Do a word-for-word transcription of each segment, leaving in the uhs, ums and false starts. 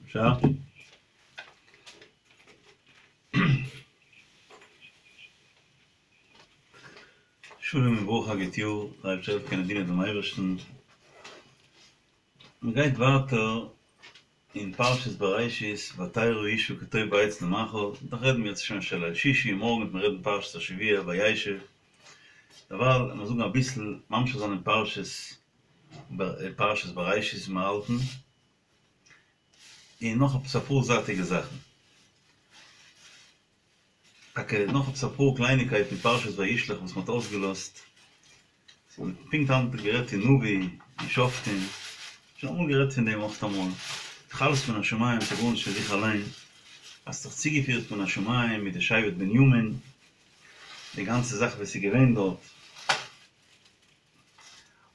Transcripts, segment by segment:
אפשר? שלום וברכה א גוט יאר, דער אייבערשטער העלפן קענען דינען דעם אייבערשטן. מען גייט ווייטער אין פרשת בראשית, ותרא האשה כי טוב העץ למאכל, דאך רעדן מיר יעצט שוין של ליל שישי, מארגן וועט מען רעדן פרשת השבוע וישב. דערווייל לאמיר זאגן אביסל, ממשיך זיין אין פרשת פרשת בראשית ווי מיר האלטן, און נאך עפעס אפאר זייטיגע זאכן. טאקע נאך עפעס אפאר קלייניקייטן אין פרשת וישלח וואס מ'האט אויסגעלאזט. ס'האט פונקט היינט גערעדט אין נביא, אין שופטים, שוין אמאל גערעדט פון דעם אויך אמאל, דאך אלעס מן השמים, ס'איז גארנישט פון זיך אליין, אז ס'האט זיך צוגעפירט מן השמים מיט די שבט בנימין, די גאנצע זאך וואס איז געווען דארט.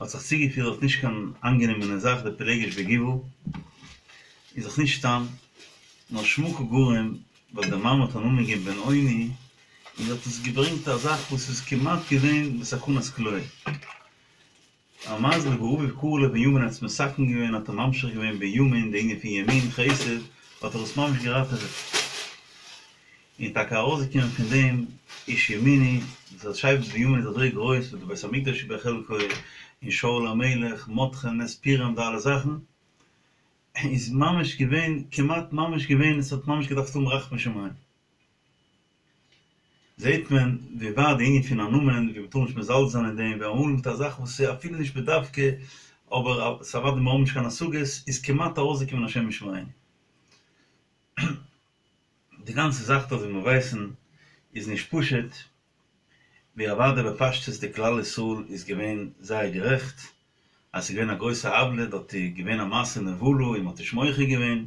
האט זיך צוגעפירט דארט נישט קיין איינגענומענע זאך די פילגש בגבעה איז דאך נישט סתם נאר שמא קא גרים ווייל די מאמע האט א נאמען געגעבן בן אוני און האט עס געברענגט א זאך וואס איז כמעט געווען בסכנת כליה א מזל ואביו קרא לו בנימין האט עס מתקן געווען האט ער ממשיך געווען בנימין די ענין פון ימין חסד האט ער עס ממש געראטעוועט. און טאקע ארויסגעקומען פון דעם איש ימיני, דאס אז שבט בנימין איז אזוי גרויס וואס די בית המקדש איז בחלקו, און שאול המלך, מרדכי נס פורים די אלע זאכן, איז ממש געווען, כמעט ממש געווען, עס האט ממש געדארפט האבן רחמי שמים. זעט מען ווי ווייט די ענין פון א נאמען, ווי מ'טאר נישט מזלזל זיין אין דעם, ווי אמאל מיט א זאך וואס איז אפילו נישט בדווקא, אבער ס'אוודאי מיר האבן נישט קיין השגות, איז כמעט ארויסגעקומען השם ישמרינו. די גאנצע זאך דא ווי מיר ווייסן איז נישט פשוט, ווי אוודאי בפשטות די כלל ישראל איז געווען זייער גערעכט אז ס'איז געווען א גרויסע עוולה דארט איז געווען א מעשה נבלה און מ'האט נישט מוחה געווען,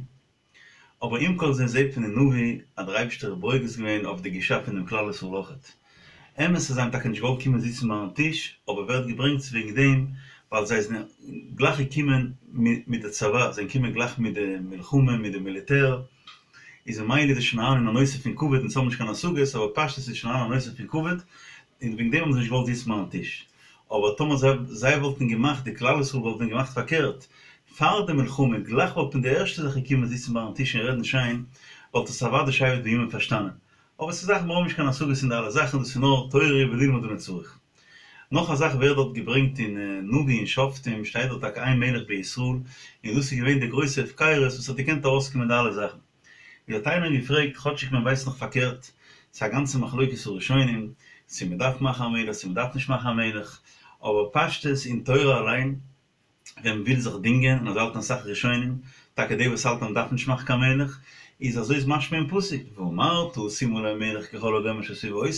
אבער עם כל זה זעט מען אין נביא אז דער אייבישטער איז ברוגז געווען אויף די גישה פון דעם כלל ישראל אויכעט. אמת אז זיי האבן טאקע נישט געוואלט קומען זיצן ביים טיש, אבער ווערט געברענגט וועגן דעם ווייל זיי זענען גלייך געקומען מיט די צבא, זיי זענען געקומען גלייך מיט די מלחמה, מיט די מיליטער, איז ממילא איז עס שוין אריין אין א נושא פון כבוד, אונז האבן נישט קיין השגות, אבער פשטות איז שוין אריין א נושא פון כבוד, און וועגן דעם האבן זיי נישט געוואלט זיצן ביים טיש. אבער טאמער זיי זיי וואלטן געמאכט, די כלל ישראל וואלט ווען געמאכט פארקערט, פאר די מלחמה, גלייך וואלט מען די ערשטע זאך געקומען זיצן ביים טיש און רעדן שיין, וואלט עס אוודאי שבט בנימין פארשטאנען. אבער ס'איז זאכן מיר האבן נישט קיין השגות אין די אלע זאכן, דאס איז נאר תורה וללמוד אנו צריך. נאך א זאך ווערט דארט געברענגט אין נביא אין שופטים שטייט דארט טאקע אין מלך בישראל, און דאס איז געווען די גרויסע הפקרות וואס האט געקענט ארויסקומען די אלע זאכן. ווי האט איינער געפרעגט, כאטשיג מען ווייסט נאך פארקערט, ס'איז א גאנצע מחלוקת הראשונים צו מען דארף מאכן א מלך צו מען דארף נישט מאכן א מלך, אבער פשטות אין תורה אליין ווען מ'וויל זיך דינגען, און אזוי האלטן אסאך ראשונים, טאקע די וואס האלטן אז מ'דארף נישט מאכן קיין מלך, איז אזוי איז משמע אין פסוק, ואמרת שים עלי מלך ככל הגוים אשר סביבותי,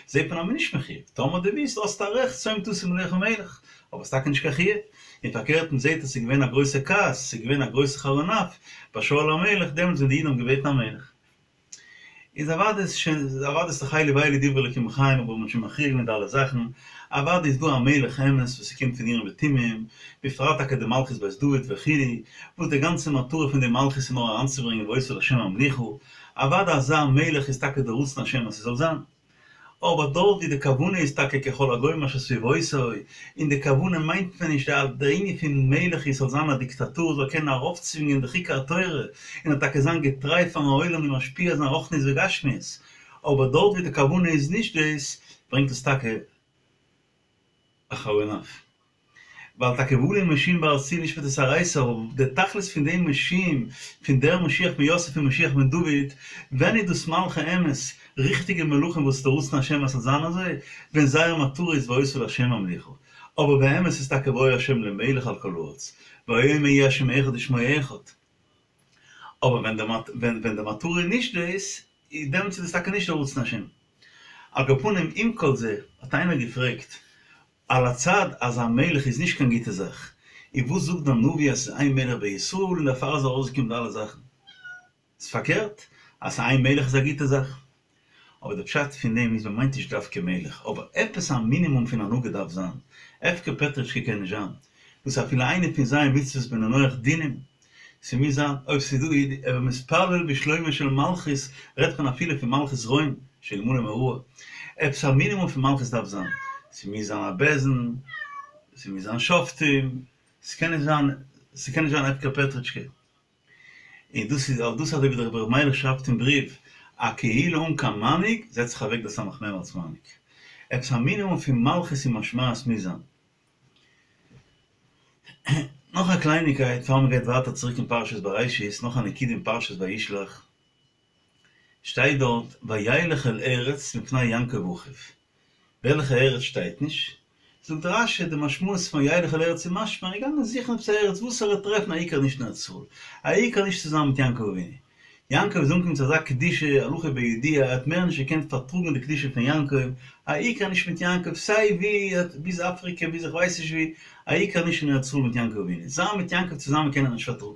זעט מען אז מ'איז נישט מחויב, טאמער דו ווילסט האסטו א רעכט שום תשים עליך מלך, אבער ס'טאקע נישט קיין חיוב, און פארקערט מ'זעט אז ס'איז געווען א גרויסע כעס, ס'איז געווען א גרויסע חרון אף ביי שאול המלך דעמאלטס ווען די אידן האבן געבעטן א מלך. איז אוודאי איז שוין אוודאי איז דאך אלו ואלו דברי אלקים חיים אבער מ'האט שוין מכריע געווען די אלע זאכן, אוודאי איז דא א מלך אמת וואס ס'קומט פון אורים ותומים, בפרט טאקע די מלכות בית דוד וכו', וואס די גאנצע מטרה פון די מלכות איז נאר אריינצוברענגען והיתה לה' המלוכה, אוודאי אזא מלך איז טאקע די רצון השם אז ס'זאל זיין. אבער דארט ווי די כוונה איז טאקע ככל הגוים אשר סביבותי, און די כוונה מיינט מען נישט די די ענין פון מלך איז ס'זאל זיין א דיקטאטור זאל קענען ארויפצווינגען די חוקי התורה און טאקע זיין געטריי פארן עולם און משפיע זיין רוחניות וגשמיות, אבער דארט ווי די כוונה איז נישט דאס, ברענגט עס טאקע א חרון אף. ווייל טאקע ועלו מושיעים בהר ציון לשפוט את הרעתו, אבער די תכלית פון די מושיעים, פון דער משיח בן יוסף און משיח בן דוד, ווען איז דאס מלכי אמת, ריכטיגע מלכים וואס די רצון השם אז ס'זאל זיין אזוי, ווען זייער מטרה איז והיתה להשם המלוכה, אבער באמת איז טאקע והיה השם למלך על כל הארץ, ויאמר יהיה השם אחד ושמו אחד. אבער ווען די ווען די מטרה איז נישט דאס, דעמאלטס איז דאס טאקע נישט די רצון השם. על כל פנים, עם כל זה, האט איינער געפרעגט, על הצד אז א מלך איז נישט קיין גוטע זאך, און וואס זאגט דער נביא אז ס'איז אין מלך בישראל און דערפאר איז ארויסגעקומען די אלע זאכן? ס'איז פארקערט, אז ס'איז אין מלך איז א גוטע זאך. אבער די פשט פון דעם איז מ'מיינט נישט דווקא מלך, אבער עפעס א מינימום פון הנהגה דארף זיין, הפקר פעטרישקע קען נישט זיין, דאס איז אפילו איינע פון ז' מצוות בני נח דינים, ס'מוז זיין, אויב ס'איז דא הוי מתפלל בשלומה של מלכות רעדט מען אפילו פון מלכות רוים שאלמלא מוראה, עפעס א מינימום פון מלכות דארף זיין, ס'מוז זיין א בית דין, ס'מוז זיין שופטים, ס'קען נישט זיין, ס'קען נישט זיין הפקר פעטרישקע. און דאס איז אויף דאס אזוי ווי דער רבי ר' מיילעך שרייבט אין בריוו, א קהילה אן קיין מנהיג, זעצט זיך אוועק דער סמך מם אלס מנהיג. עפעס א מינימום פון מלכות און משמעת מוז זיין. נאך א קלייניקייט פאר מען גייט ווייטער צוריק אין פרשת בראשית, נאך א נקודה אין פרשת וישלח, שטייט דארט וילך אל ארץ מפני יעקב אחיו, וועלכע ארץ שטייט נישט, זאגט רש"י די משמעות פון וילך אל ארץ איז משמע ער איז געגאנגען זוכן עפעס א ארץ וואס ער וועט טרעפן א עיקר נישט אין ארץ ישראל, א עיקר נישט צוזאמען מיט יעקב אבינו, יעקב איז אנגעקומען צו אזא קדושה, הלכה בידוע, ער האט מער נישט געקענט פארטראגן די קדושה פון יעקב, א עיקר נישט מיט יעקב, סיי ווי, ביז אפריקע, ביז איך ווייס נישט ווי, א עיקר נישט אין ארץ ישראל מיט יעקב אבינו, זיין מיט יעקב צוזאמען קען ער נישט פארטראגן.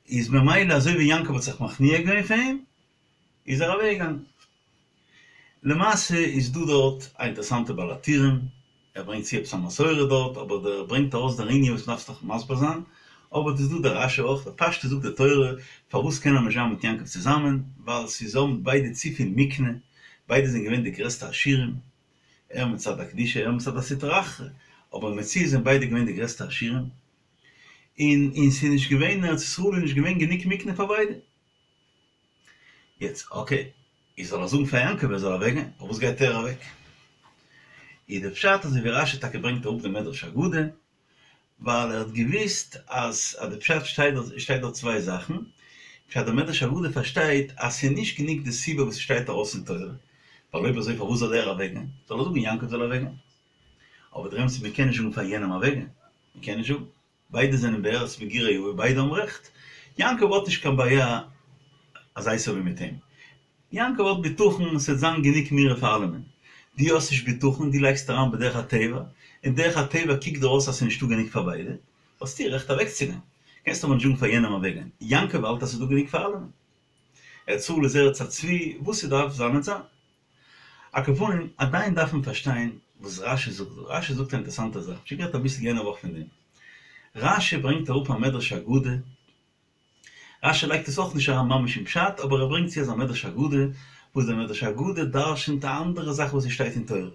איז ממילא אזוי ווי יעקב האט זיך מכניע געווען פאר אים, איז ער אוועק געגאנגען. למעשה איז דא דארט א אינטערעסאנטע בעל הטורים, ער ברענגט צו עפעס א מסורה דארט, אבער דער ברענגט ארויס דער ענין וואס מ'דארף דאך מסביר זיין, אבער ס'איז דא דער רש"י אויך, בפשטות זאגט די תורה, פארוואס קען ער נישט זיין מיט יעקב צוזאמען, ווייל ס'איז האבן ביידע צופיל מקנה, ביידע זענען געווען די גרעסטע עשירים, ער מצד הקדושה ער מצד הסטרא אחרא, אבער במציאות זענען ביידע געווען די גרעסטע עשירים, און און ס'איז נישט געווען אין ארץ ישראל איז נישט געווען גענוג מקנה פאר ביידע. יעצט אקעי, איז זאל ער זאגן פאר יעקב ער זאל אוועק גיין, פארוואס גייט ער אוועק? איז די פשט אזוי ווי רש"י טאקע ברענגט אראפ די מדרש אגדה, ווייל ער האט געוויסט אז אז די פשט שטייט דארט שטייט דארט צוויי זאכן, פשט די מדרש אגדה פארשטייט אז ס'איז נישט גענוג די סיבה וואס ס'שטייט ארויס אין תורה, ווייל אויב אזוי פארוואס זאל ער אוועק גיין? זאל ער זאגן יעקב זאל אוועק גיין. אבער דער אמת איז מ'קען נישט זאגן פאר יענעם אוועק גיין, מ'קען נישט זאגן. ביידע זענען בארץ מגורי אבות, ביידע האבן רעכט. יעקב האט נישט קיין בעיה אז עשו איז מיט אים. יעקב האט בטחון ס'וועט זיין גענוג מרעה פאר אלעמען. דו האסט נישט בטחון, דו לייגסט אריין בדרך הטבע, און דרך הטבע קוקט דיר אויס אז ס'איז נישטא גענוג פאר ביידע, האסטו רעכט אוועקצוגיין. קענסט אבער נישט זאגן פאר יענעם אוועקגיין. יעקב האלט אז ס'איז דא גענוג פאר אלעמען. ארץ ישראל איז ארץ הצבי, וואס ס'דארף זיין וועט זיין. על כל פנים, עדיין דארף מען פארשטיין וואס רש"י זאגט דא. רש"י זאגט א אינטערעסאנטע זאך, שוין גערעדט אביסל יענע וואך פון דעם. רש"י ברענגט אראפ א מדרש אגדה, רש"י לייגט עס אויך נישט אריין ממש אין פשט, אבער ער ברענגט צו אזא מדרש אגדה, וואס דער מדרש אגדה דרש'נט א אנדערע זאך וואס עס שטייט אין תורה.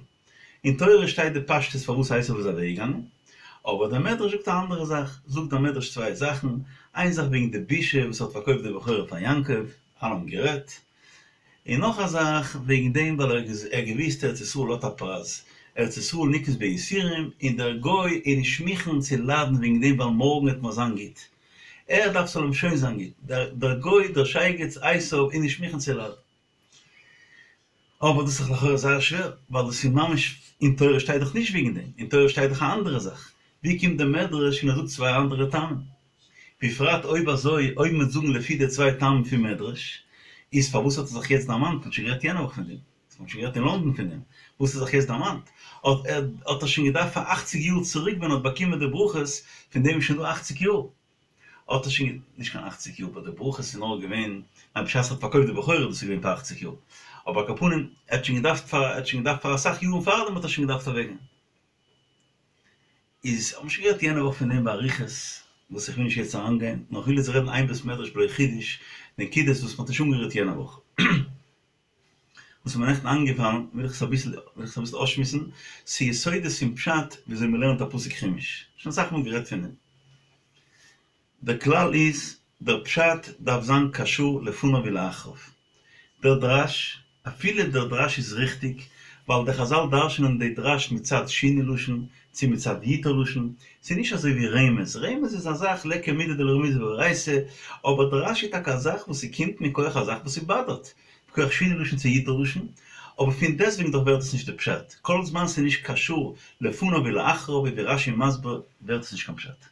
אין תורה שטייט די פשטות פארוואס עשו איז אוועקגעגאנגען, אבער דער מדרש זאגט א אנדערע זאך. זאגט דער מדרש צוויי זאכן, איין זאך וועגן די בושה וואס ער האט פארקויפט די בכורה פאר יעקב, אלע האבן גערעדט, און נאך א זאך וועגן דעם ווייל ער האט געוויסט ארץ ישראל האט א פרייז, ארץ ישראל נקנית ביסורים, און דער גוי איז נישט מוכן צו ליידן וועגן דעם ווייל מארגן וועט מיר זיין גוט, ער דארף ס'זאל אים שוין זיין גוט, דער גוי דער שייגעץ עשו איז נישט מוכן צו ליידן. אבער דאס איז דאך לכאורה זייער שווער, ווייל דאס איז ממש, אין תורה שטייט דאך נישט וועגן דעם, אין תורה שטייט דאך א אנדערע זאך, ווי קומט דער מדרש און ער זאגט צוויי אנדערע טעמים? בפרט אויב אזוי, אויב מ'וועט זאגן לפי די צוויי טעמים פון מדרש, איז פארוואס האט ער זיך יעצט דערמאנט? מ'האט שוין גערעדט יענע וואך פון דעם, מ'האט שוין גערעדט אין לונדון פון דעם, וואס האט ער זיך יעצט דערמאנט? האט ער האט ער שוין געדארפט פאר אכציג יאר צוריק ווען ער האט באקומען די ברכות, פון דעם איז שוין דא אכציג יאר, האט ער שוין, נישט קיין אכציג יאר, ווייל די ברכות איז נאר געווען, ניין בשעת ער האט פארקויפט די בכורה דאס איז געווען פאר אכציג יאר, אבער על כל פנים, ער האט שוין געדארפט פאר, ער האט שוין געדארפט פאר אסאך יארן פארדעם האט ער שוין געדארפט אוועקגיין. איז האבן שוין גערעדט יענע וואך פון דעם באריכות, וואס איך וויל נישט יעצט אריינגיין, נאר איך וויל יעצט רעדן איין בית מדרש בלא חידוש, נקודות וואס מ'האט נישט אנגערירט יענע וואך. וואס איז מיר נעכטן איינגעפאלן, וויל איך עס אביסל וויל איך עס אביסל אויסשמועסן, ס'איז יסודות פון פשט וויאזוי מ'לערנט א פסוק חומש, שוין אסאך מאל גערעדט פון דעם. דער כלל איז, דער פשט דארף זיין קשור לפניו ולאחריו. דער דרש, אפילו דער דרש איז ריכטיג, ווייל די חזל דרש'נען די דרש מצד שינוי לשון, צו מצד יתור לשון, ס'איז נישט אזוי ווי רמז, רמז איז א זאך ליכא מידי דלא רמיזא באורייתא, אבער דרש איז טאקע א זאך וואס ס'קומט מכח א זאך וואס ס'באדערט, מכח שינוי לשון צו יתור לשון, אבער פון דעסטוועגן דאך ווערט עס נישט די פשט, כל זמן ס'איז נישט קשור לפניו ולאחריו ווי רש"י מסביר ווערט עס נישט קיין פשט.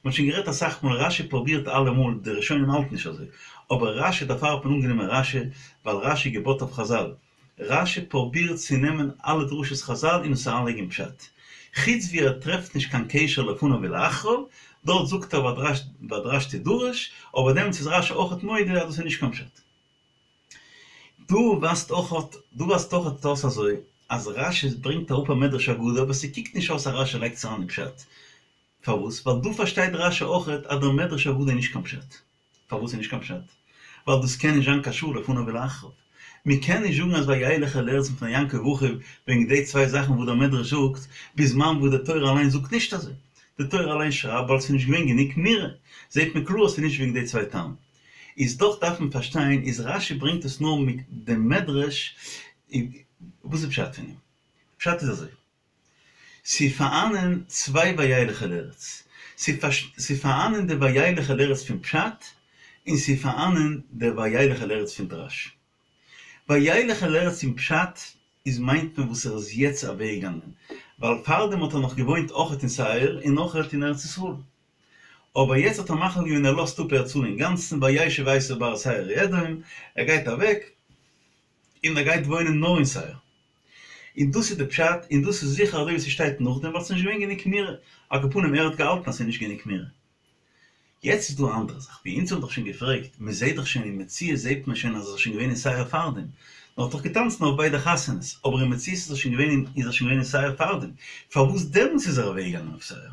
מ'האט שוין גערעדט אסאך מאל, רש"י פרובירט אלעמאל, די ראשונים האלטן נישט אזוי, אבער רש"י דערפאר האט מען אנגענומען רש"י, ווייל רש"י געבויט אויף חזל, רש"י פרובירט צו נעמען אלע דרשות חזל און עס אריינלייגן אין פשט, חוץ ווי ער טרעפט נישט קיין קשר לפניו ולאחריו, דארט זאגט ער והדרש תדרש, אבער דעמאלטס איז רש"י אויכעט מודה אז דאס איז נישט קיין פשט. דא ווייזט אויכעט דא ווייזט אויכעט אויס אזוי אז רש"י ברענגט אראפ א מדרש אגדה אבער ס'קוקט נישט אויס אז רש"י לייגט עס אריין אין פשט. פארוואס? ווייל דא פארשטייט רש"י אויכעט אז דער מדרש אגדה איז נישט קיין פשט. פארוואס איז נישט קיין פשט? ווייל דאס קען נישט זיין קשור לפניו ולאחריו. מען קען נישט זאגן אז וילך אל ארץ מפני יעקב אחיו וועגן די צוויי זאכן וואס דער מדרש זאגט, בזמן וואס די תורה אליין זאגט נישט אזוי. די תורה אליין שרייבט ווייל ס'איז נישט געווען גענוג מרעה, זעט מען קלאר אז ס'איז נישט וועגן די צוויי טעמים. איז דאך דארף מען פארשטיין איז רשי ברענגט עס נאר מיט דעם מדרש, וואס איז פשט פון אים? פשט איז אזוי, ס'איז פארהאנען צוויי וילך אל ארץ, ס'איז פארהאנען די וילך אל ארץ פון פשט, און ס'איז פארהאנען די וילך אל ארץ פון דרש. וילך אל ארץ אין פשט איז מיינט מען וואס ער איז יעצט אוועקגעגאנגען, ווייל פארדעם האט ער נאך געוואוינט אויכעט אין שעיר און אויכעט אין ארץ ישראל. אבער יעצט האט ער מחליט געווען ער לאזט אפ ארץ ישראל אינגאנצן וישב עשו בהר שעיר אדום, ער גייט אוועק און ער גייט וואוינען נאר אין שעיר. און דאס איז די פשט, און דאס איז זיכער אזוי ווי ס'שטייט נאכדעם ווייל ס'איז נישט געווען גענוג מרעה, על כל פנים ער האט געהאלטן אז ס'איז נישט גענוג מרעה. יעצט איז דא א אנדערע זאך, ווי אונז האבן דאך שוין געפרעגט, מען זעט דאך שוין אין מציאות זעט מען שוין אז ער איז שוין געווען אין שעיר פארדעם, נאר האט דאך געטאנצן אויף ביידע חתונות, אבער אין מציאות איז ער שוין געווען אין איז ער שוין געווען אין שעיר פארדעם, פארוואס דעמאלטס איז ער אוועקגעגאנגען אויף שעיר?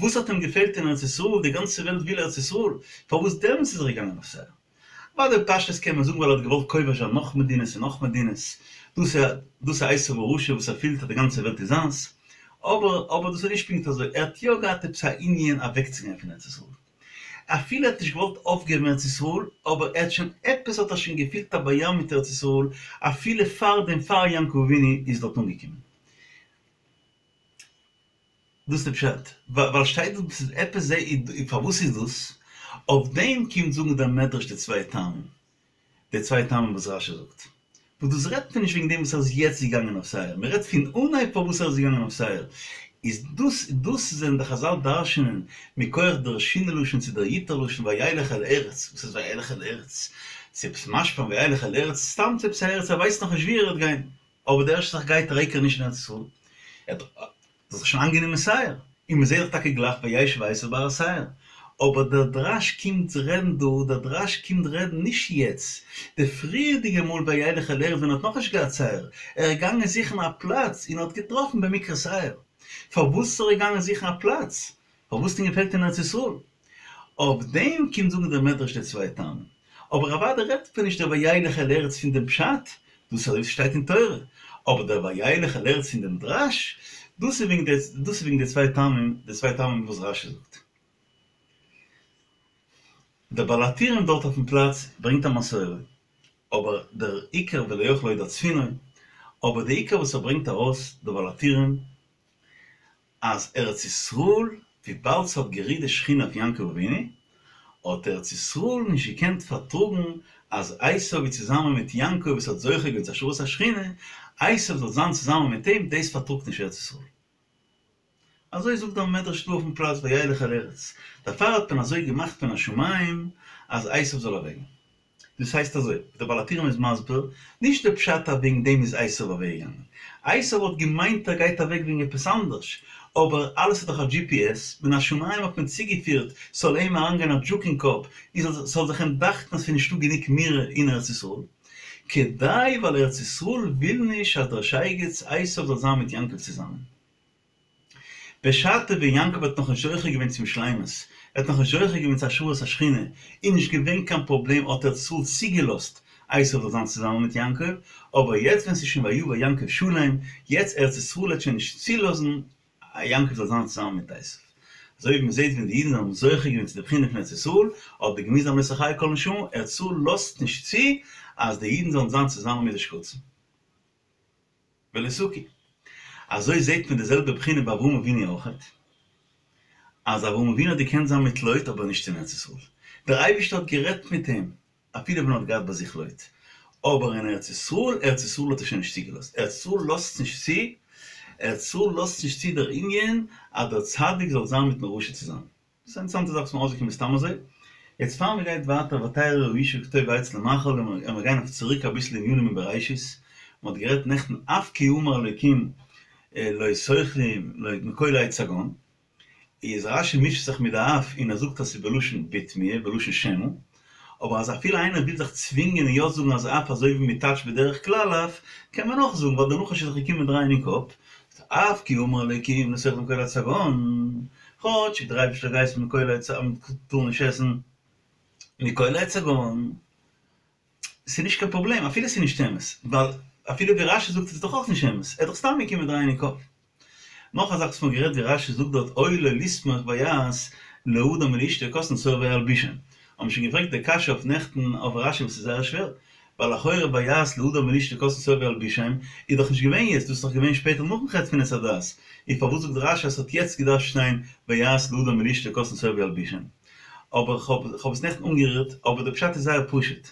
וואס האט אים געפעלט אין ארץ ישראל, די גאנצע וועלט וויל ארץ ישראל, פארוואס דעמאלטס איז ער געגאנגען אויף שעיר? אוודאי בפשטות קען מען זאגן ווייל ער האט געוואלט כובש זיין נאך מדינות און נאך מדינות, דאס איז דאס איז עשו הרשע וואס ער פילט אז די גאנצע וועלט איז זיינס, אבער אבער דאס איז נישט פונקט אזוי, ער האט יא געהאט עפעס א ענין אוועקצוגיין פון ארץ ישראל, אפילו ער האט נישט געוואלט אויפגעבן ארץ ישראל, אבער ער האט שוין עפעס האט ער שוין געפילט א ביין מיט ארץ ישראל אפילו פאר דעם פאר יעקב אבינו איז דארט אנגעקומען. דאס איז די פשט, ווייל שטייט דא ס'איז עפעס זע פארוואס איז דאס, אויף דעם קומט זאגן דער מדרש די צוויי טעמים, די צוויי טעמים וואס רשי זאגט, וואס דאס רעדט מען נישט וועגן דעם וואס ער איז יעצט געגאנגען אויף שעיר, מען רעדט פון אנהייב פארוואס ער איז געגאנגען אויף שעיר, איז דאס דאס זענען די חזל דרש'נען מכח דער שינוי לשון צו דער ייתור לשון וילך אל ארץ, וואס איז וילך אל ארץ? ס'איז עפעס משמע וילך אל ארץ, סתם צו עפעס א ארץ ער ווייסט נאכנישט וואו ער וועט גיין, אבער די ערשטע זאך גייט ער עיקר נישט אין ארץ ישראל, ער האט זיך שוין איינגענומען שעיר, און מען זעט דאך טאקע גלייך וישב עשו בהר שעיר, אבער דער דרש קומט רעדן דא, דער דרש קומט רעדן נישט יעצט, די פריערדיגע מאל וילך אל ארץ ווען ער האט נאכנישט געהאט שעיר, ער איז געגאנגען זוכן א פלאץ און ער האט געטראפן במקרה שעיר, פארוואס איז ער געגאנגען זוכן א פלאץ? פארוואס האט אים געפעלט אין ארץ ישראל? אויף דעם קומט זאגן דער מדרש די צוויי טעמים. אבער אוודאי רעדט מען נישט דער וילך אל ארץ פון דעם פשט, דאס איז אזוי ווי ס'שטייט אין תורה, אבער דער וילך אל ארץ פון דעם דרש, דאס איז וועגן די דאס איז וועגן די צוויי טעמים, די צוויי טעמים וואס רשי זאגט. דער בעל הטורים דארט אויפן פלאץ ברענגט א מסורה, אבער דער עיקר ולא יכלה עוד הצפינו, אבער די עיקר וואס ער ברענגט ארויס דער בעל הטורים, אז ארץ ישראל, וויבאלד ס'האט גערוהט די שכינה אויף יעקב אבינו, האט ארץ ישראל נישט געקענט פארטראגן אז עשו איז צוזאמען מיט יעקב וואס האט זוכה געווען צו השראת השכינה, עשו זאל זיין צוזאמען מיט אים, דאס פארטראגט נישט ארץ ישראל. אזוי זאגט דער מדרש דא אויפן פלאץ וילך אל ארץ, דערפאר האט מען אזוי געמאכט מן השמים אז עשו זאל אוועקגיין. דאס הייסט אזוי, ווי דער בעל הטורים איז מסביר, נישט די פשט אז וועגן דעם איז עשו אוועקגעגאנגען, עשו האט געמיינט ער גייט אוועק וועגן עפעס אנדערש, אבער אלעס איז דאך א G P S, מן השמים האט מען צוגעפירט ס'זאל אים אריינגיין א דזשוק אין קאפ, און ס'זאל זיך אים דאכטן אז ס'איז נישטא גענוג מרעה אין ארץ ישראל, כדי ווייל ארץ ישראל וויל נישט אז דער שייגעץ עשו זאל זיין מיט יעקב צוזאמען. בשעתו ווען יעקב האט נאכנישט זוכה געווען צום שלימות, ער האט נאכנישט זוכה געווען צו השראת השכינה, איז נישט געווען קיין פראבלעם האט ארץ ישראל צוגעלאזט עשו זאל זיין צוזאמען מיט יעקב, אבער יעצט ווען ס'איז שוין ויבא יעקב שלם, יעצט ארץ ישראל וועט שוין נישט צולאזן יעקב זאל זיין צוזאמען מיט עשו. אזוי ווי מ'זעט ווען די אידן האבן זוכה געווען צו די בחינה פון ארץ ישראל, האט מען געמוזט זיין לא תחיה כל נשמה, ארץ ישראל לאזט נישט צו אז די אידן זאלן זיין צוזאמען מיט די שקצים. ולא תקום. אזוי זעהט מען די זעלבע בחינה ביי אברהם אבינו אויכעט, אז אברהם אבינו האט געקענט זיין מיט לוט אבער נישט אין ארץ ישראל. דער אייבערשטער האט גערעדט מיט אים אפילו ווען ער האט געהאט ביי זיך לוט, אבער אין ארץ ישראל, ארץ ישראל האט ער שוין נישט צוגעלאזט, ארץ ישראל לאזט נישט צו, ארץ ישראל לאזט נישט צו דער ענין אז דער צדיק זאל זיין מיטן רשע צוזאמען. דאס איז א אינטערעסאנטע זאך וואס מיר אויסגעקומען סתם אזוי. יעצט פאר מען גייט ווייטער ותרא האשה כי טוב העץ למאכל און מיר גייען אויף צוריק אביסל ענינים אין בראשית, מען האט גערעדט נעכטן אף כי אמר אלוקים לא תאכלו מכל עץ הגן, איז רשי מישט זיך מיט די אף און ער זאגט אז ס'איז בלשון בתמיה בלשון שמא, אבער אז אפילו איינער וויל זיך צווינגען און יא זאגן אז אף אזוי ווי מען טייטשט בדרך כלל אף, קען מען אויך זאגן ווייל דער נחש איז זיך געקומען דרייען אין קאפ, אף כי אמר אלוקים לא תאכלו מכל עץ הגן, כאטשיג דער אייבערשטער געהייסן מכל עץ הגן טאר נישט עסן מכל עץ הגן, ס'איז נישט קיין פראבלעם אפילו ס'איז נישט אמת, ווייל אפילו ווי רשי זאגט איז עס דאך אויך נישט אמת, ער איז דאך סתם געקומען דרייען אין קאפ. נאך א זאך וואס מ'האט גערעדט ווי רש"י זאגט דארט אוי לו לסמוך ויעש לאדם ולאשתו כתין שאור וילבישם. האבן מיר שוין געפרעגט די קשיא אויף נעכטן אויף רש"י וואס איז זייער שווער, ווייל לכאורה ויעש לאדם ולאשתו כתין שאור וילבישם איז דאך נישט געווען יעצט, דאס איז דאך געווען שפעטער נאכן חטא פון עץ הדעת, איז פארוואס זאגט רש"י אז ס'האט יעצט געדארפט שטיין ויעש לאדם ולאשתו כתין שאור וילבישם? אבער כ'האב עס נעכטן אנגערירט, אבער די פשט איז זייער פשוט.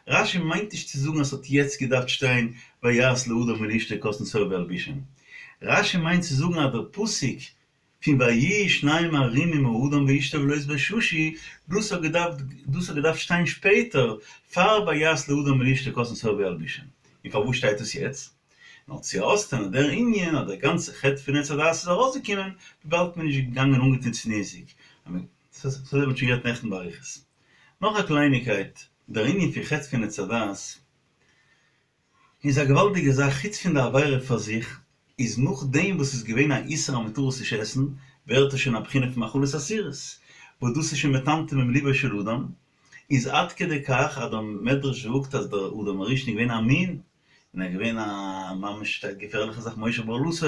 רש"י מיינט נישט צו זאגן אז ס'האט יעצט געדארפט שטיין ויעש לאדם ולאשתו כתין שאור וילבישם. רש"י מיינט צו זאגן אז דער פסוק פון ויהיו שניהם ערומים האדם ואשתו ולא יתבוששו, דאס האט געדארפט דאס האט געדארפט שטיין שפעטער, פאר ויעש לאדם ולאשתו כתין שאור וילבישם. און פארוואס שטייט עס יעצט? נאר צו אויסטענה'ן דער ענין אז דער גאנצער חטא פון עץ הדעת איז ארויסגעקומען וויבאלד מ'איז נישט געגאנגען אנגעטון צניעות'דיג. דאס האט מען שוין גערעדט נעכטן באריכות. נאך א קלייניקייט, דער ענין פון חטא פון עץ הדעת איז א געוואלדיגע זאך, חוץ פון די עבירה פאר זיך, איז נאכדעם וואס ס'איז געווען א איסור אז מ'טאר עס נישט עסן, ווערט עס שוין א בחינה פון מאכלות אסורות, וואס דאס איז שוין מטמטם עם ליבו של אדם, איז עד כדי כך אז דער מדרש זאגט אז דער אדם הראשון איז געווען א מין, און ער איז געווען א ממש געפערליכע זאך מושך בערלתו,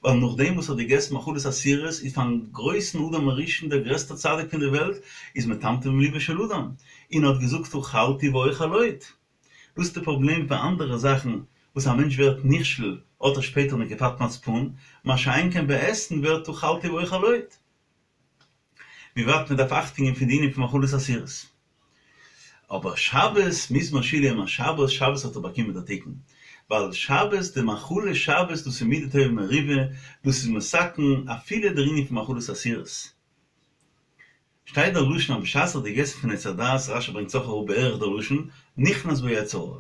ווייל נאכדעם וואס ער האט געגעסן מאכלות אסורות איז פארן גרויסן אדם הראשון דער גרעסטער צדיק פון די וועלט איז מטמטם עם ליבו של אדם, און ער האט געזאגט אכלתי ואוכל עוד. דאס איז די פראבלעם פון אנדערע זאכן וואס א מענטש ווערט נכשל האט ער שפעטער נקיפת מצפון, מה שאין כן ביי עסן ווערט אכלתי ואוכל עוד. ווי ווייט מען דארף אכטונג געבן פון די ענין פון מאכלות אסורות. אבער שבת מזמור שיר ליום השבת, שבת האט ער באקומען די תיקון, ווייל שבת די מאכלי שבת דאס איז מידה טובה מרובה, דאס איז מתקן אפילו דער ענין פון מאכלות אסורות. שטייט דער לשון אז בשעת ער האט געגעסן פון עץ הדעת, רש"י ברענגט עס אויך אראפ בערך דער לשון, נכנס בו יצר הרע.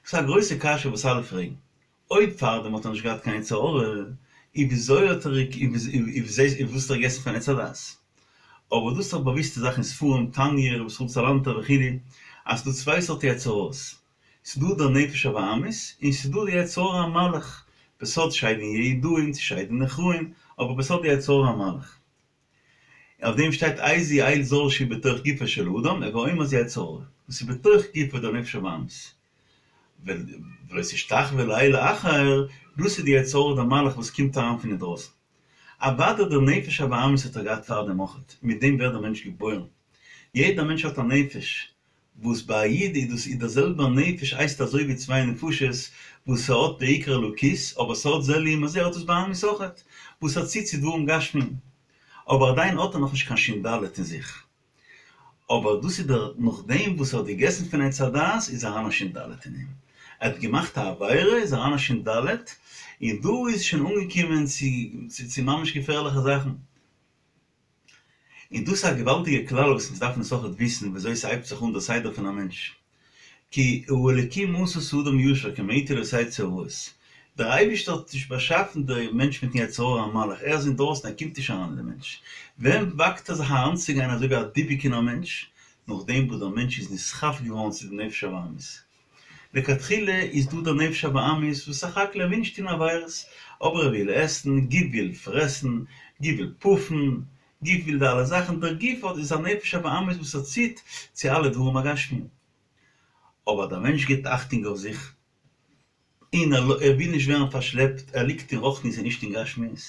ס'איז א גרויסע קשיא וואס אלע פרעגן, אויב פארדעם האט ער נישט געהאט קיין יצר הרע, איז וויאזוי האט ער איז וואס האט ער געגעסן פון עץ הדעת? אבער דאס איז דאך באוויסטע זאך אין ספרים, תניא, רבי ישראל סאלאנטער וכו', אז ס'דא צוויי סארט יצר הרע'ס, ס'דא דער נפש הבהמית, און ס'דא די יצר הרע המלאך, בסוד שדין יהודאין צו שדין נוכראין, אבער בסוד די יצר הרע המלאך. אויף דעם שטייט איזהו אל זר שהוא בתוך גופו של אדם, הוי אומר זה יצר הרע, וואס איז בתוך גופו דער נפש הבהמית. ולא תשתחוה לאל אחר, דאס איז די יצר הרע דער מלאך וואס קומט אריין פון אינדרויסן. אוודאי דער נפש הבהמית האט ער געהאט פאר דעם אויכעט, מיט דעם ווערט דער מענטש געבוירן. יעדער מענטש האט א נפש, וואס ביי א איד איז דאס איז דער זעלבער נפש הייסט אזוי ווי צוויי נפשות וואס ס'האט בעיקר אלוקית אבער ס'האט זה לעומת זה האט עס בהמית אויכעט וואס ער ציט צו דברים גשמיים אבער עדיין האט ער נאכנישט קיין שין ד' אין זיך אבער דאס איז דער נאכדעם וואס ער האט געגעסן פון עץ הדעת איז אריין א שין ד' אין אים ער האט געמאכט א עבירה איז אריין א שין ד' און דא איז שוין אנגעקומען צו צו ממש געפערליכע זאכן. און דאס איז א געוואלדיגע כלל וואס אונז דארפן עס אויכעט וויסן וויאזוי ס'הייבט זיך אן דער סדר פון א מענטש. כי האלקים עשה את האדם ישר כי מאתו לא תצא הרעות. דער אייבערשטער האט נישט באשאפן די מענטש מיטן יצר הרע המלאך, ער איז אינדרויסן ער קומט נישט אריין אין די מענטש. ווען וואגט ער זיך אריינצוגיין אזוי ווי א דיבוק אין א מענטש? נאכדעם וואס דער מענטש איז נסחף געווארן צו די נפש הבהמית. לכתחילה איז דא דער נפש הבהמית וואס סך הכל ער וויל נישט טון עבירות, אבער ער וויל עסן, גוף וויל פרעסן, גוף וויל פאפן, גוף וויל די אלע זאכן, דער גוף האט איז א נפש הבהמית וואס ער ציט צו אלע דברים הגשמיים. אבער דער מענטש גיבט אכטונג אויף זיך, און ער וויל נישט ווערן פארשלעפט, ער ליגט אין רוחניות און נישט אין גשמיות,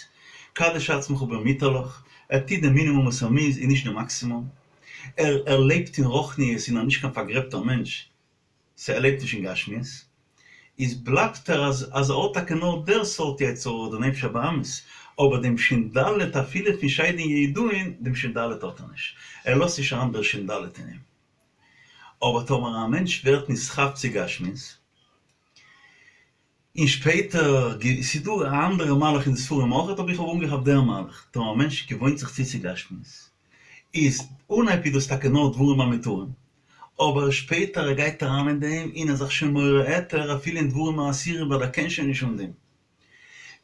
קדש עצמך במותר לך, ער טוט די מינימום וואס ער מוז און נישט די מאקסימום, ער ער לעבט אין רוחניות און ער איז נישט קיין פארגרעבטער מענטש, סא ער לעבט נישט אין גשמיות, איז בלייבט ער אז אז ער האט טאקע נאר דער סארט יצר הרע דער נפש הבהמית, אבער דעם שין ד' אפילו פון שדין יהודאין, דעם שין ד' האט ער נישט, ער לאזט נישט אריין דער שין ד' אין אים. אבער טאמער א מענטש ווערט נסחף צו גשמיות, און שפעטער, ס'איז דא א אנדערע מהלך אין די ספרים אויכעט, אבער איך האב אנגעכאפט דער מהלך, טאמער א מענטש געוואוינט זיך צו צו גשמיות, איז אנהייב איז דאס טאקע נאר דברים המותרים, אבער שפעטער ער גייט אריין אין דעם און ער איז זיך שוין מורה היתר אפילו אין דברים האסורים ווייל ער קען שוין נישט אן דעם.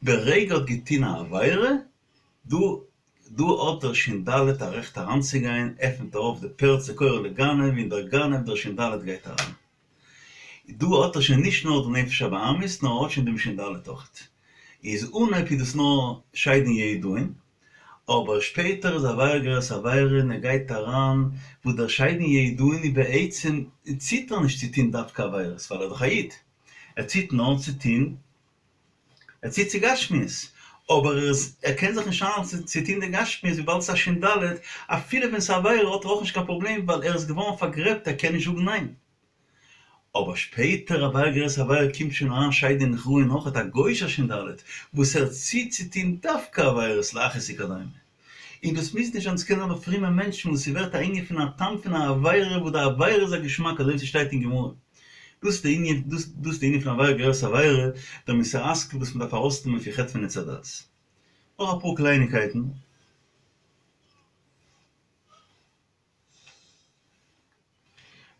ברגע האט געטון א עבירה, דא דא האט דער שין ד' א רעכט אריינצוגיין, עפנט ער אויף די פרצה קורא לגנב און דער גנב דער שין ד' גייט אריין. דא האט ער שוין נישט נאר די נפש הבהמית נאר ער האט שוין דעם שין ד' אויכעט. איז אנהייב איז דאס נאר שדין יהודאין, אבער שפעטער איז עבירה גוררת עבירה און ער גייט אריין וואס דער שדין יהודאין איז בעצם ציט ער נישט צו טון דווקא עבירות ווייל ער איז דאך א איד, ער ציט נאר צו טון ער ציט צו גשמיות, אבער ער איז ער קען זיך נישט איינהאלטן צו טון די גשמיות וויבאלד ס'איז א שין ד', אפילו ווען ס'איז עבירה האט ער אויך נישט קיין פראבלעם ווייל ער איז געווארן פארגרעבט ער קען נישט זאגן ניין. אבער שפעטער עבירה גוררת עבירה קומט שוין אריין שדין נכרעין אויכעט א גוי'שער שין ד' וואס ער ציט צו טון דווקא עבירות להכעיס וכדומה. און דאס מוז נישט זיין ס'קען זיין ביי פרומע מענטשן וואס ס'ווערט א ענין פון א טעם פון א עבירה וואס די עבירה איז א געשמאק אזוי ווי ס'שטייט אין גמרא. דאס איז די ענין דאס איז די ענין פון עבירה גוררת עבירה, דער מוסר השכל וואס מ'דארף ארויסנעמען פון חטא פון עץ הדעת. נאך אפאר קלייניקייטן.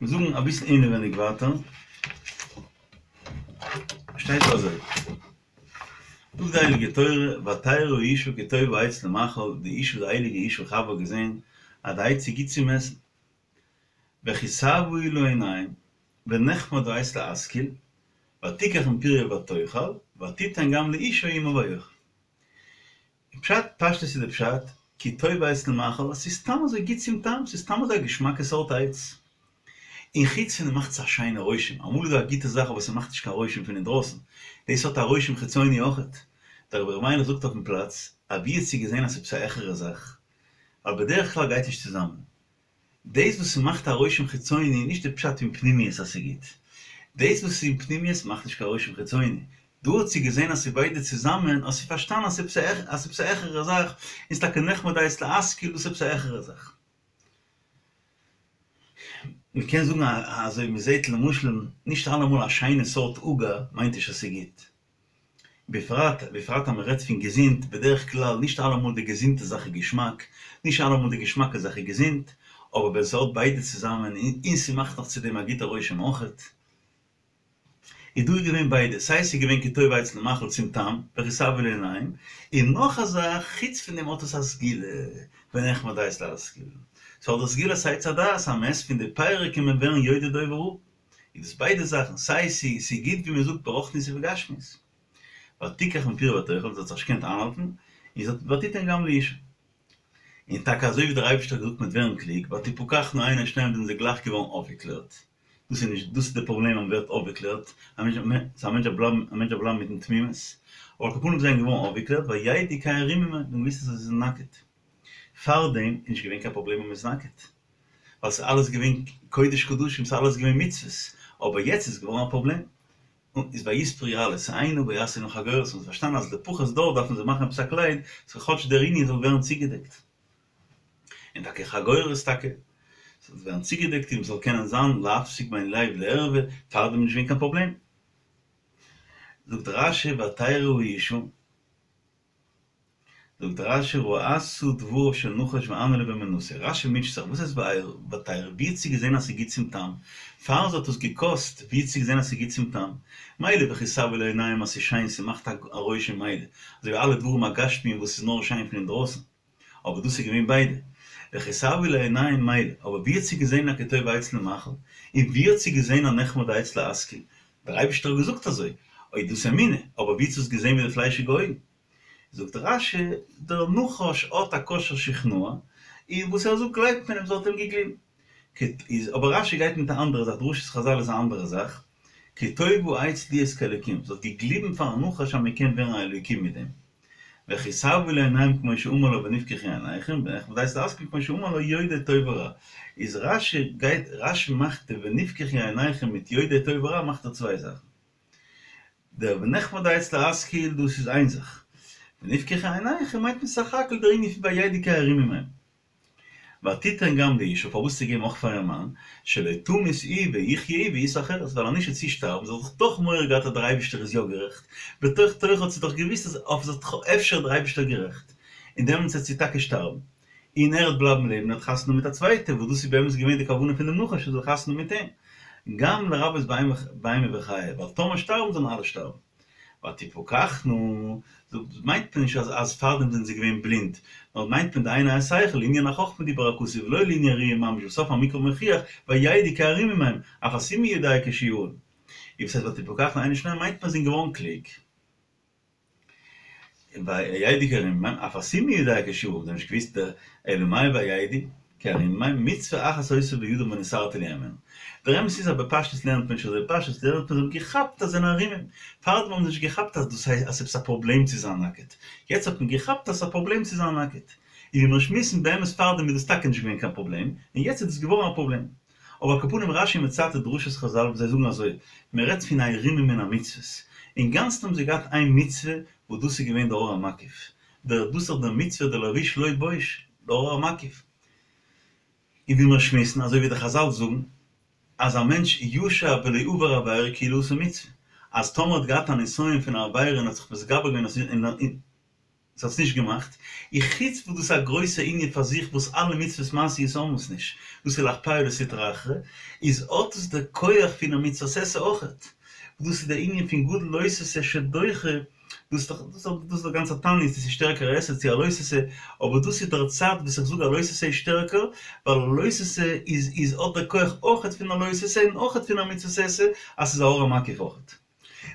מיר זאגן אביסל אינעווייניג ווייטער, שטייט דא אזוי, זאגט די הייליגע תורה, ותרא האשה כי טוב העץ למאכל, די אשה די הייליגע אשה חוה האט געזען אז די עץ איז גוט צום עסן, וכי תאוה היא לעיניים, ונחמד העץ להשכיל, ותקח מפריו ותאכל, ותתן גם לאישה עמה ויאכל. פשט, פשטות איז די פשט, כי טוב העץ למאכל, אז ס'איז סתם אזוי גוט צום טעם, ס'איז סתם אזוי א געשמאקע סארט עץ. און חוץ פון דעם מאכט עס א שיינע רושם, אמאל איז דא א גוטע זאך אבער ס'מאכט נישט קיין רושם פון אינדרויסן, דאס האט א רושם חיצוני אויכעט. דער רבי ר' מיילעך זאגט אויפן פלאץ, אוואו האט זי געזען אז ס'איז עפעס א העכערע זאך, ווייל בדרך כלל גייט נישט צוזאמען. דאס וואס ס'מאכט א רושם חיצוני איז נישט די פשט אין פנימיות אז ס'גוט. דאס וואס איז אין פנימיות מאכט נישט קיין רושם חיצוני. דא האט זי געזען אז ס'איז ביידע צוזאמען, האט זי פארשטאנען אז ס'איז עפעס א העכערע זאך, און ס'איז טאקע נחמד העץ להשכיל, דאס איז עפעס א העכערע זאך. מ'קען זאגן אזוי מ'זעט למשל נישט אלעמאל א שיינע סארט עוגה מיינט נישט אז ס'גוט. בפרט בפרט אז מען רעדט פון געזונט, בדרך כלל נישט אלעמאל די געזונטע זאך איז געשמאק, נישט אלעמאל די געשמאקע זאך איז געזונט, אבער ווען ס'האט ביידע צוזאמען און ס'מאכט נאך צו דעם א גוטע רושם אויכעט, איז דא געווען ביידע, סיי ס'איז געווען כי טוב העץ למאכל צום טעם, וכי תאוה היא לעיניים, און נאך א זאך, חוץ פון דעם האט עס א סגולה, ונחמד העץ להשכיל, ס'האט די סגולת עץ הדעת אז מ'עסט פון די פירות קען מען ווערן יודע טוב ורע. איז דאס ביידע זאכן, סיי ס'איז גוט ווי מען זאגט ברוחניות ובגשמיות. ותיקח מפריו ותאכל, זי האט זיך נישט געקענט איינהאלטן, און זי האט ותתן גם לאישה. און טאקע אזוי ווי דער אייבערשטער האט געזאגט מ'וועט ווערן קלוג, ותפקחנה עיני שניהם זענען זיי גלייך געווארן אויפגעקלערט. דאס איז נישט, דאס איז די פראבלעם אז מ'ווערט אויפגעקלערט, א מענטש דארף בלייבן, א מענטש דארף בלייבן מיטן תמימות. אבער על כל פנים זיי זענען געווארן אויפגעקלערט, וידעו כי ערומים הם, זיי האבן געוואוסט אז זיי זענען נאקעט. פארדעם איז נישט געווען קיין פראבלעם אז מ'איז נאקעט. ווייל ס'איז אלעס געווען קודש קדשים, ס'איז אלעס געווען מצוות, אבער יעצט איז געווארן א פראבלעם, און איז ויתפרו יללות אינה ויעשו להם חגורות, און מ'האט פארשטאנען אז לפחות דארט דארפן זיי מאכן עפעס א קלייד, סאו כאטש דער ענין זאל ווערן צוגעדעקט. און טאקע חגורות טאקע, ס'זאל ווערן צוגעדעקט און מ'זאל קענען זיין להפסיק בין לב לערווה, פארדעם איז נישט געווען קיין פראבלעם. זאגט רש"י ותרא האשה. זאגט רש"י ראתה דבריו של נחש ואנהלה באמונתו, רש"י מוטשט זיך, וואס הייסט ותרא, ווי האט זי געזען אז ס'איז גוט צום טעם? פאר זי האט עס געקאסט, ווי האט זי געזען אז ס'איז גוט צום טעם? מילא וכי תאוה היא לעיניים אז ס'איז שיין ס'מאכט א רושם מילא, אזוי ווי אלע דברים הגשמיים וואס איז נאר שיין פון אינדרויסן, אבער דאס איז געווען ביידע, וכי תאוה היא לעיניים מילא, אבער ווי האט זי געזען אז כי טוב העץ למאכל? און ווי האט זי געזען אז נחמד העץ להשכיל? דער אייבערשטער האט געזאגט אזוי, אוי דאס אמונה, אבער ווי האט זי עס געזען מיט די פליישיגע אויגן? זאגט רש"י, דער נחש האט א כושר שכנוע, און וואס ער זאגט גלייבט מען אים, זי האט אים געגליבן. איז אבער רש"י גייט מיט א אנדערע זאך, דרשת חז"ל איז א אנדערע זאך, כי טוב העץ להיות כאלוקים, זי האט געגליבן פארן נחש אז מען קען ווערן א אלוקים מיט דעם. וכי תאוה היא לעיניים כמו שאמר לה ונפקחו עיניכם, ונחמד העץ להשכיל כמו שאמר לה יודעי טוב ורע. איז רש"י גייט, רש"י מאכט די ונפקחו עיניכם מיט יודעי טוב ורע מאכט ער צוויי זאכן. דער ונחמד העץ להשכיל דאס איז איין זאך. ונפקחו עיניכם מיינט מען סך הכל דער ענין פון וידעו כי ערומים הם. ותתן גם לאישה, פארוואס צו געבן אויך פאר איר מאן, שלא תמות היא ויחיה הוא וישא חרש, ווייל אז נישט וועט זי שטארבן, זי האט דאך דאך מורא געהאט אז דער אייבישטער איז יא גערעכט, בתוך תוכה האט זי דאך געוואוסט אז אויף זי האט אפשר דער אייבישטער גערעכט, און דעמאלטס וועט זי טאקע שטארבן, און ער וועט בלייבן לעבן און האט חתונה מיט א צווייטע, וואס דאס איז באמת געווען די כוונה פון דעם נחש ער זאל חתונה מיט אים, גם לרבות בהמה וחיה, ווייל טאמער שטארבן זאלן אלע שטארבן. ותפקחנה, זאגט, מיינט מען נישט אז אז פארדעם זענען זיי געווען בלינד, נאר מיינט מען די עיני השכל, לענין החכמה דיבר הכתוב ולא לענין ראי' ממש, וסוף המקרא מוכיח, וידעו כי ערומים הם, אף הסומא יודע כשהוא ערום. און וואס הייסט ותפקחנה עיני שניהם מיינט מען זענען געווארן קלוג. וידעו כי ערומים הם, אף הסומא יודע כשהוא ערום, זיי האבן נישט געוואוסט אלא מאי וידעו. כערומים, מצוה אחת היתה בידם ונתערתי להם הימנה. דער אמת איז אז בפשטות לערנט מען נישט אזוי, בפשטות לערנט מען זיי האבן געכאפט אז זיי זענען ערומים, פארדעם האבן זיי נישט געכאפט אז דאס הייסט אז ס'איז עפעס א פראבלעם צו זיין נאקעט, יעצט האט מען געכאפט אז ס'איז א פראבלעם צו זיין נאקעט, און ווי מיר שמועסן באמת פארדעם איז דאס טאקע נישט געווען קיין פראבלעם, און יעצט איז דאס געווארן א פראבלעם. אבער על כל פנים רש"י מצטט דרשות חז"ל וואס זיי זאגן אזוי, מען רעדט פון ערומים מן המצוות, אינגאנצן האבן זיי געהאט איין מצוה וואס דאס איז געווען דער אור המקיף, דער דאס איז דער מצוה דער לבוש לא בוש, דער אור המקיף. און ווי מיר שמועסן, אזוי ווי די חז"ל זאגן, אז א מענטש ישב ולא עבר עבירה כאילו עשה מצוה, אז טאמער האט געהאט א נסיון פון א עבירה און האט זיך מתגבר געווען און ס'האט עס נישט געמאכט, און חוץ וואס דאס איז א גרויסע ענין פאר זיך וואס אלע מצוות מעשיות האבן עס נישט, דאס איז לאכפיא לסטרא אחרא, איז האט עס די כח פון א מצוות עשה אויכעט, דאס איז די ענין פון גדול לא תעשה שדוחה, דאס איז דאך דאס איז דער גאנצער תענית צו ס'איז שטערקער א עשה צו א לא תעשה, אבער דאס איז דער צד וואס איך זאג א לא תעשה איז שטערקער, ווייל א לא תעשה איז איז האט דער כח אויכעט פון א לא תעשה און אויכעט פון א מצוות עשה, אז ס'איז א אור המקיף אויכעט.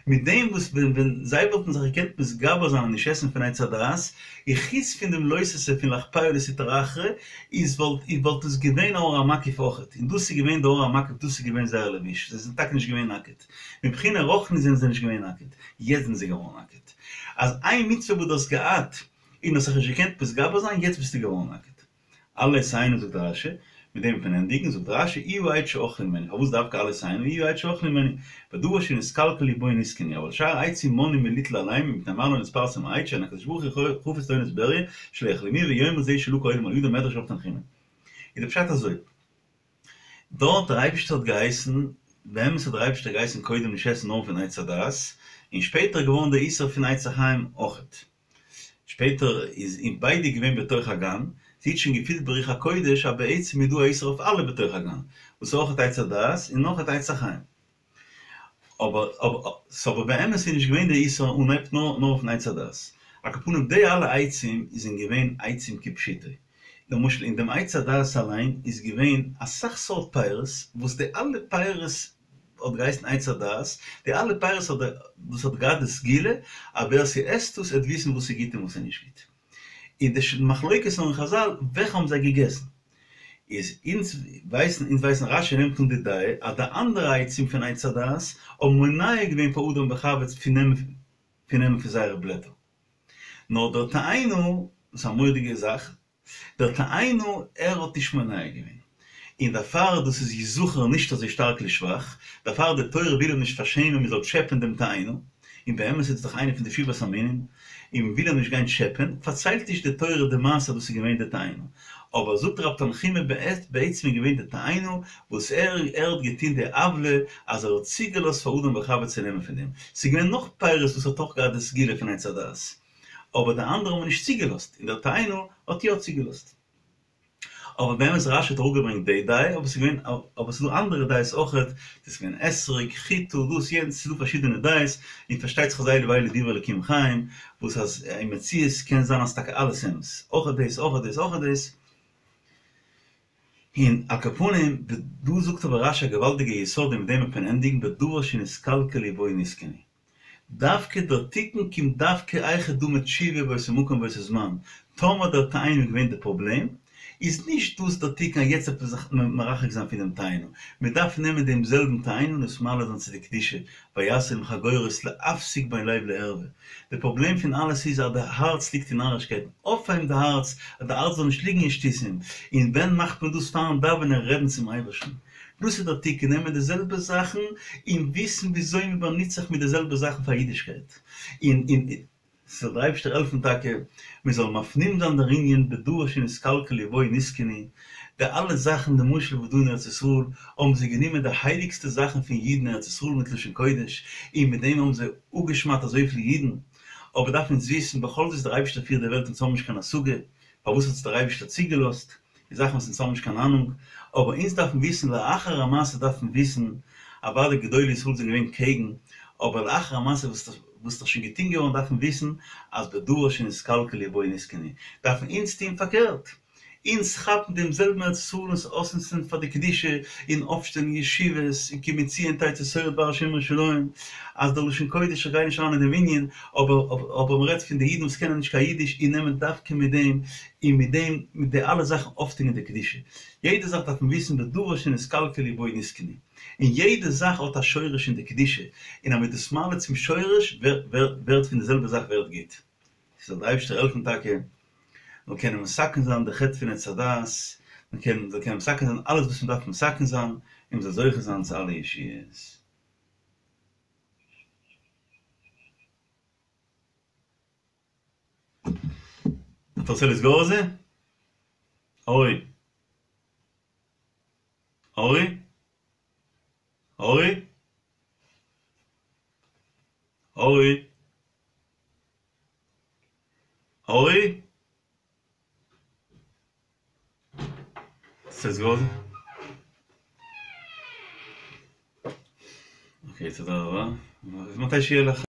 מיט דעם וואס ווען ווען זיי וואלטן זיך געקענט מתגבר זיין און נישט עסן פון עץ הדעת, און חוץ פון דעם לא תעשה פון לאכפיא לסטרא אחרא, איז וואלט איז וואלט עס געווען א אור המקיף אויכעט, און דאס איז געווען די אור המקיף דאס איז געווען זייער לבוש, זיי זענען טאקע נישט געווען נאקעט, מבחינה רוחנית זענען זיי נישט געווען נאקעט, יעצט זענען זיי געווארן נאקעט. אז איין מצוה וואס דו האסט געהאט און האסט זיך נישט געקענט מתגבר זיין, יעצט ביסטו געווארן נאקעט. עלה תאנה זאגט רש"י, מיט דעם וועט מען ענדיגן, זאגט רש"י, איהו העץ שאכלו ממנו, פארוואס דווקא עלה תאנה, איהו העץ שאכלו ממנו, בדבר שנתקלקלו בו נתקנו, אבל שאר העצים מנעו מליטול עליהם, ומפני מה לא נתפרסם העץ שאין הקדוש ברוך הוא חפץ לעונש בריה, שלא יחלמוהו ויאמרו זה שלקה העולם על ידו מדרש רב תנחומא. איז די פשט אזוי. דארט דער אייבישטער האט געהייסן, באמת האט דער אייבישטער געהייסן קודם נישט עסן נאר פון עץ הדעת, און שפעטער געווארן דער איסור פון עץ החיים אויכעט. שפעטער איז אין ביידע געווען בתוך הגן, זי האט שוין געפילט ברוח הקודש אז בעצם איז דא א איסור אויף אלע בתוך הגן, וואס איז אויכעט עץ הדעת און אויכעט עץ החיים. אבער ס'אבער באמת איז נישט געווען די איסור אנהייב נאר נאר אויפן עץ הדעת. על כל פנים די אלע עצים זענען געווען עצים כפשוטו. למשל אין דעם עץ הדעת אליין איז געווען אסאך סארט פירות וואס די אלע פירות האט געהייסן עץ הדעת, די אלע פירות האט דאס האט געהאט די סגולה אז ווער ס'עסט עס עט וויסן וואס איז גוט און וואס איז נישט גוט. און די מחלוקת אין חז"ל וועלכע האבן זיי געגעסן. איז אונז ווייסן אונז ווייסן רש"י נעמט אן די דעה אז די אנדערע עצים פון עץ הדעת האבן מונע געווען פאר אדם וחוה פון נעמען פון נעמען פון זייערע בלעטער. נאר דער תאנה, דאס איז א מורא'דיגע זאך, דער תאנה ער האט נישט מונע געווען, און דערפאר דאס איז יזכר נישט אזוי שטארק לשבח, דערפאר די תורה וויל אים נישט פארשעמען מען זאל טשעפען דעם תאנה, און באמת איז עס דאך איינע פון די שבעת המינים, און מען וויל אים נישט גיין טשעפען, פארציילט נישט די תורה די מעשה אז דאס איז געווען די תאנה, אבער זאגט רב תנחומא בעצם איז געווען די תאנה וואס ער ער האט געטון די עוולה אז ער האט צוגעלאזט פאר אדם וחוה צו נעמען פון דעם, ס'איז געווען נאך פירות וואס האט אויך געהאט די סגולה פון עץ הדעת, אבער די אנדערע האבן נישט צוגעלאזט, און דער תאנה האט יא צוגעלאזט. אבער באמת רש"י האט אראפגעברענגט די דעה, אבער ס'איז געווען, אבער ס'איז דא אנדערע דעות אויכעט, ס'איז געווען אתרוג, חיטה, דאס יענץ, ס'איז דא פארשידענע דעות, און פארשטייט זיך אז אלו ואלו דברי אלקים חיים, וואס אז אין מציאות קען זיין אז טאקע אלעס אמת, אויכעט דאס, אויכעט דאס, אויכעט דאס. און על כל פנים, דא זאגט אבער רש"י א געוואלדיגע יסוד און מיט דעם וועט מען ענדיגן בדבר שנתקלקלו בו נתקנו. דווקא דער תיקון קומט דווקא היכי דמי תשובה באותו מקום באותו זמן, טאמער דער תאנה איז געווען די פראבלעם, איז נישט דאס דער תיקון אז יעצט דארף מען זיך מרחק זיין פונעם תאנה, מען דארף נעמען דעם זעלבן תאנה און עס מעלה זיין צו די קדושה, ויעש להם חגורות להפסיק בין לב לערווה. די פראבלעם פון אלעס איז אז די הארץ ליגט אין נארישקייטן, אויפהייבן די הארץ אז די הארץ זאל נישט ליגן אין שטותים, און ווען מאכט מען דאס פארן דאווענען רעדן צום אייבערשטן, דאס איז דער תיקון, נעמען די זעלבע זאכן און וויסן וויאזוי מען באנוצט זיך מיט די זעלבע זאכן פאר אידישקייט, און און זאל דער אייבערשטער העלפן טאקע מען זאל מפנים זיין דער ענין בדבר שנתקלקלו בו נתקנו, די אלע זאכן למשל וואס דא אין ארץ ישראל האבן זיי גענומען די הייליגסטע זאכן פון אידן אין ארץ ישראל מיט לשון קודש און מיט דעם האבן זיי אפגעשמדט אזויפיל אידן, אבער דארף אונז וויסן בכל זאת דער אייבערשטער פירט די וועלט אונז האבן נישט קיין השגה פארוואס האט עס דער אייבערשטער צוגעלאזט, די זאכן וואס אונז האבן נישט קיין אהנונג, אבער אונז דארפן וויסן לאחר המעשה דארף מען וויסן, אוודאי גדולי ישראל זענען געווען קעגן, אבער לאחר המעשה וואס איז דאך שוין געטון געווארן דארף מען וויסן אז בדבר שנתקלקלו בו נתקנו, דארפן אונז טון פארקערט, אונז כאפן דעם זעלבן ארץ ישראל און עס אויסנוצן פאר די קדושה, און אויפשטעלן ישיבות, און כי מציון תצא תורה ודבר השם מירושלים, אז דער לשון קודש, איך גיי נישט אריין אין דעם ענין, אבער אבער מ'רעדט פון די אידן וואס קענען נישט קיין אידיש און נעמען דווקא מיט דעם, און מיט דעם, מיט די אלע זאכן אויפטון די קדושה. יעדע זאך דארף מען וויסן בדבר שנתקלקלו בו נתקנו. און יעדע זאך האט א שורש אין די קדושה, און אז מ'איז דאס מעלה צום שורש, ווערט פון די זעלבע זאך ווערט גוט. זאל דער אייבערשטער העלפן טאקע מ'זאל קענען מתקן זיין די חטא פון עץ הדעת, מ'קען מ'זאל קענען מתקן זיין אלעס וואס מ'דארף מתקן זיין, און מ'זאל זוכה זיין צו אלע ישועות. אתה רוצה לסגור את זה? אורי. אורי? אורי? אורי? אורי? רוצה לסגור את זה? אוקיי, תודה רבה. מתי שיהיה לך